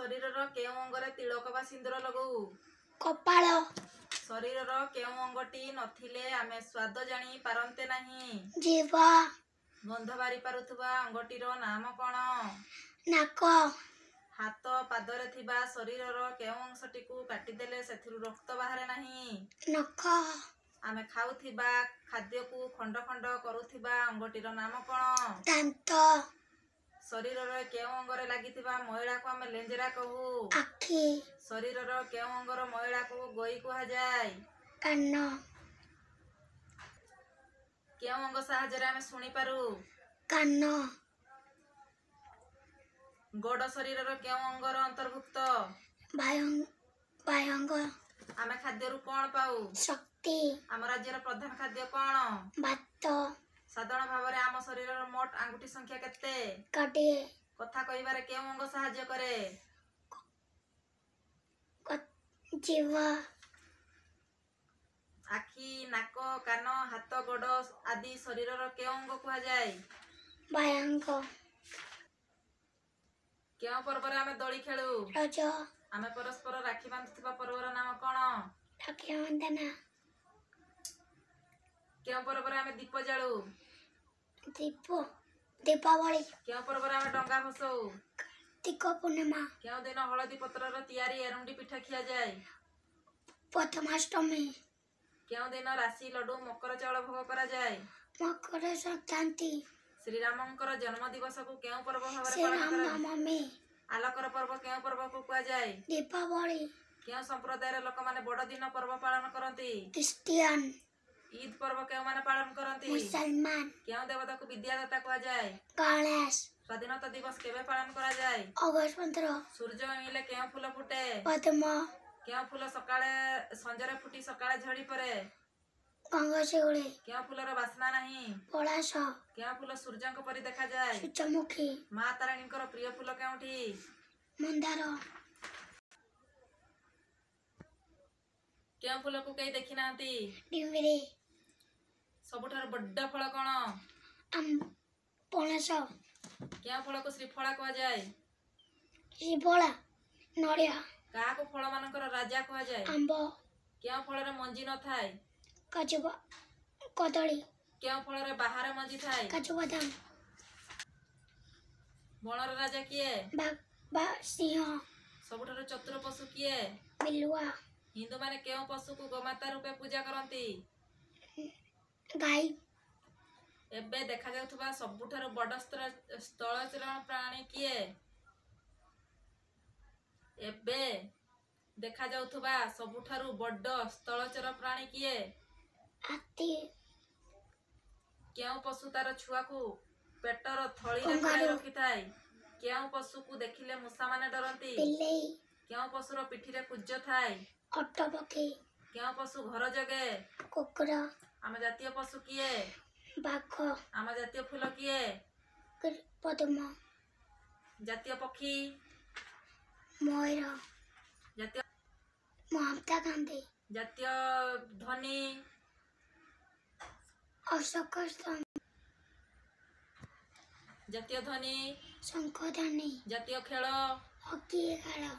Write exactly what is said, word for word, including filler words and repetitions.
ଶରୀରର କେଉଁ ଅଙ୍ଗରେ ତିଳକ ବା ସିନ୍ଦୁର ଲଗାଉ? କପାଳ। ଶରୀରର କେଉଁ ଅଙ୍ଗଟି ନଥିଲେ ଆମେ ସ୍ୱାଦ ଜାଣି ପାରନ୍ତେ ନାହିଁ? ଜିଭ। ଗନ୍ଧ ବାରି ପାରୁଥିବା ଅଙ୍ଗଟିର ନାମ କ'ଣ? ନାକ। ହାତ ପାଦରେ ଥିବା ଶରୀରର କେଉଁ ଅଂଶଟିକୁ କାଟିଦେଲେ ସେଥିରୁ ରକ୍ତ ବାହାରେ ନାହିଁ? ନଖ। ଆମେ ଖାଉଥିବା ଖାଦ୍ୟକୁ ଖଣ୍ଡ ଖଣ୍ଡ କରୁଥିବା ଅଙ୍ଗଟିର ନାମ କ'ଣ? ଦାନ୍ତ। ଶରୀରର କେଉଁ ଅଙ୍ଗରେ ଲାଗିଥିବା ମଇଳାକୁ ଆମେ ଲେଞ୍ଜେରା କହୁ? ଆଖି। ଶରୀରର କେଉଁ ଅଙ୍ଗର ମଇଳାକୁ ଗୋଇ କୁହାଯାଏ? କାନ। କେଉଁ ଅଙ୍ଗ ସାହାଯ୍ୟରେ ଆମେ ଶୁଣିପାରୁ? କାନ। ଗୋଡ଼ ଶରୀରର କେଉଁ ଅଙ୍ଗର ଅନ୍ତର୍ଭୁକ୍ତ? ବାହ୍ୟାଙ୍ଗ। ଆମେ ଖାଦ୍ୟରୁ କ'ଣ ପାଉ? ଶକ୍ତି। ଆମ ରାଜ୍ୟର ପ୍ରଧାନ ଖାଦ୍ୟ କ'ଣ? ଭାତ। ସାଧାରଣ ଭାବରେ ଆମ ଶରୀରର ମୋଟ ଆଙ୍ଗୁଠି ସଂଖ୍ୟା କେତେ? କୋଡ଼ିଏ। କଥା କହିବାରେ କେଉଁ ଅଙ୍ଗ ସାହାଯ୍ୟ କରେ? ଜିଭ। ଆଖି, ନାକ, କାନ, ହାତ, ଗୋଡ଼ ଆଦି ଶରୀରର କେଉଁ ଅଙ୍ଗ କୁହାଯାଏ? ବାହ୍ୟାଙ୍ଗ। କେଉଁ ପର୍ବରେ ଆମେ ଦୋଳି ଖେଳୁ? ରଜ। ଆମେ ପରସ୍ପର ରାକ୍ଷୀ ବାନ୍ଧୁଥିବା ପର୍ବର ନାମ କ'ଣ? ରକ୍ଷାବନ୍ଧନ। କେଉଁ ପର୍ବରେ ଆମେ ଦୀପ ଜାଳୁ? ଦୀପ ଦୀପାବଳି। କେଉଁ ପର୍ବରେ ଆମେ ଡଙ୍ଗା ଭସଉ? କାର୍ତ୍ତିକ ପୂର୍ଣ୍ଣିମା। କେଉଁ ଦିନ ହଳଦୀ ପତ୍ରର ତିଆରି ଏରୁଣ୍ଡି ପିଠା ଖିଆଯାଏ? ପ୍ରଥମାଷ୍ଟମୀ। କେଉଁ ଦିନ ରାଶି ଲଡୁ, ମକର ଚାଉଳ ଭୋଗ କରାଯାଏ? ମକର ସଂକ୍ରାନ୍ତି। ଶ୍ରୀରାମଙ୍କର ଜନ୍ମ ଦିବସକୁ କେଉଁ ପର୍ବ ଭାବରେ ପାଳନ ଶ୍ରୀରାମ କରାଯାଏ? ନବମୀ। ଆଲୋକର ପର୍ବ କେଉଁ ପର୍ବକୁ କୁହାଯାଏ? ଦୀପାବଳି। କେଉଁ ସମ୍ପ୍ରଦାୟର ଲୋକମାନେ ବଡ଼ଦିନ ପର୍ବ ପାଳନ କରନ୍ତି? ଖ୍ରୀଷ୍ଟିଆନ। ଇଦ୍ ପର୍ବ କେଉଁମାନେ ପାଳନ କରନ୍ତି? ମୁସଲମାନ। କେଉଁ ଦେବତାକୁ ବିଦ୍ୟାଦାତା କୁହାଯାଏ? ଗଣେଶ। ସ୍ୱାଧୀନତା ଦିବସ କେବେ ପାଳନ କରାଯାଏ? ଅଗଷ୍ଟ ପନ୍ଦର। ସୂର୍ଯ୍ୟ ଉଇଁଲେ କେଉଁ ଫୁଲ ଫୁଟେ? ପଦ୍ମ। କେଉଁ ଫୁଲ ସକାଳେ ସଞ୍ଜରେ ଫୁଟି ସକାଳେ ଝଡ଼ି ପଡ଼େ? ଗଙ୍ଗଶିଉଳି। କେଉଁ ଫୁଲର ବାସ୍ନା ନାହିଁ? ପଳାଶ। କେଉଁ ଫୁଲ ସୂର୍ଯ୍ୟଙ୍କ ପରି ଦେଖାଯାଏ? ସୂର୍ଯ୍ୟମୁଖୀ। ମା ତାରିଣୀଙ୍କର ପ୍ରିୟ ଫୁଲ କେଉଁଠି? ମନ୍ଦାର। କେଉଁ ଫୁଲକୁ କେହି ଦେଖି ନାହାନ୍ତି? ଡିମ୍ବିରି। ସବୁଠାରୁ ବଡ଼ ଫଳ କ'ଣ? ପଣସ। କେଉଁ ଫଳକୁ ଶ୍ରୀଫଳା କୁହାଯାଏ? ଶ୍ରୀଫଳା ନଡ଼ିଆ। କାହାକୁ ଫଳମାନଙ୍କର ରାଜା କୁହାଯାଏ? ଆମ୍ବ। କେଉଁ ଫଳରେ ମଞ୍ଜି ନଥାଏ? କାଜୁ, କଦଳୀ। କେଉଁ ଫଳରେ ବାହାରେ ମଞ୍ଜି ଥାଏ? କାଜୁ ବାଦାମ। ବଣର ରାଜା କିଏ? ସିଂହ। ସବୁଠାରୁ ଚତୁର ପଶୁ କିଏ? ବିଲୁଆ। ହିନ୍ଦୁମାନେ କେଉଁ ପଶୁକୁ ଗୋମାତା ରୂପେ ପୂଜା କରନ୍ତି? ଗାଈ। ଏବେ ଦେଖାଯାଉଥିବା ସବୁଠାରୁ ବଡ଼ ସ୍ଥଳଚର ପ୍ରାଣୀ କିଏ? ଏବେ ଦେଖାଯାଉଥିବା ସବୁଠାରୁ ବଡ଼ ସ୍ଥଳଚର ପ୍ରାଣୀ କିଏ? ହାତୀ। କେଉଁ ପଶୁ ତାର ଛୁଆକୁ ପେଟର ଥଳିରେ ପୂରାଇ ରଖିଥାଏ? କେଉଁ ପଶୁକୁ ଦେଖିଲେ ମୂଷାମାନେ ଡରନ୍ତି? ବିଲେଇ। କେଉଁ ପଶୁର ପିଠିରେ କୁଜ ଥାଏ? ଓଟ ପକ୍ଷୀ। କେଉଁ ପଶୁ ଘର ଜଗେ? କୁକୁର। ଆମ ଜାତୀୟ ପଶୁ କିଏ? ବାଘ। ଆମ ଜାତୀୟ ଫୁଲ କିଏ? ପଦ୍ମ। ଜାତୀୟ ପକ୍ଷୀ? ମୟୂର। ଜାତୀୟ ମହାତ୍ମା ଗାନ୍ଧୀ। ଜାତୀୟ ଧ୍ୱନି? ଅଶୋକ ସ୍ତମ୍ଭ। ଜାତୀୟ ଧ୍ୱନି? ଶଙ୍ଖ ଧ୍ୱନି। ଜାତୀୟ ଖେଳ? ହକି ଖେଳ।